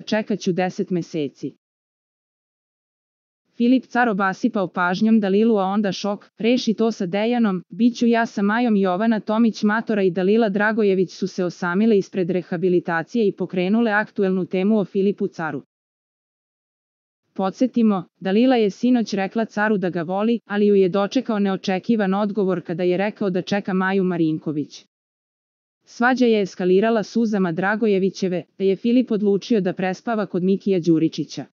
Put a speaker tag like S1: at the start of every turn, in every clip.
S1: čekaću 10 meseci. Filip car obasipao pažnjom Dalilu, a onda šok, reši to sa Dejanom, biću ja sa Majom. Jovana Tomić Matora i Dalila Dragojević su se osamile ispred rehabilitacije i pokrenule aktuelnu temu o Filipu caru. Podsjetimo, Dalila je sinoć rekla caru da ga voli, ali ju je dočekao neočekivan odgovor kada je rekao da čeka Maju Marinković. Svađa je eskalirala suzama Dragojevićeve, te je Filip odlučio da prespava kod Mikija Đuričića.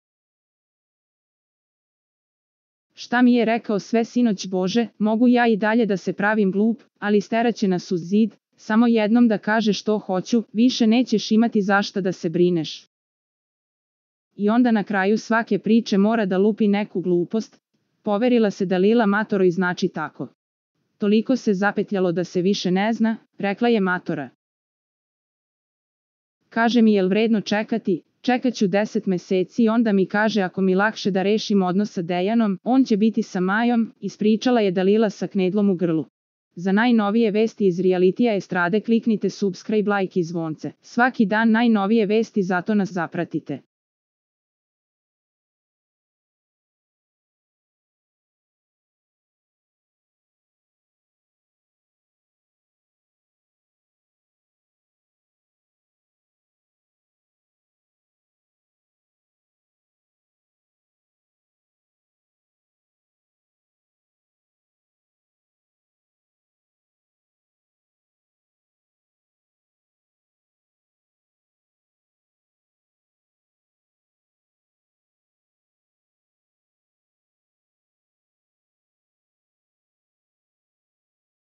S1: Šta mi je rekao sve sinoć, Bože, mogu ja i dalje da se pravim glup, ali steraće nas uz zid, samo jednom da kaže što hoću, više nećeš imati zašta da se brineš. I onda na kraju svake priče mora da lupi neku glupost, poverila se Dalila Matoroj. Znači tako. Toliko se zapetljalo da se više ne zna, rekla je Matora. Kaže mi, jel vredno čekati? Čekaću 10 meseci i onda mi kaže ako mi lakše da rešim odnos sa Dejanom, on će biti sa Majom, ispričala je Dalila sa knedlom u grlu. Za najnovije vesti iz realitija estrade kliknite subscribe, like i zvonce. Svaki dan najnovije vesti, zato nas zapratite.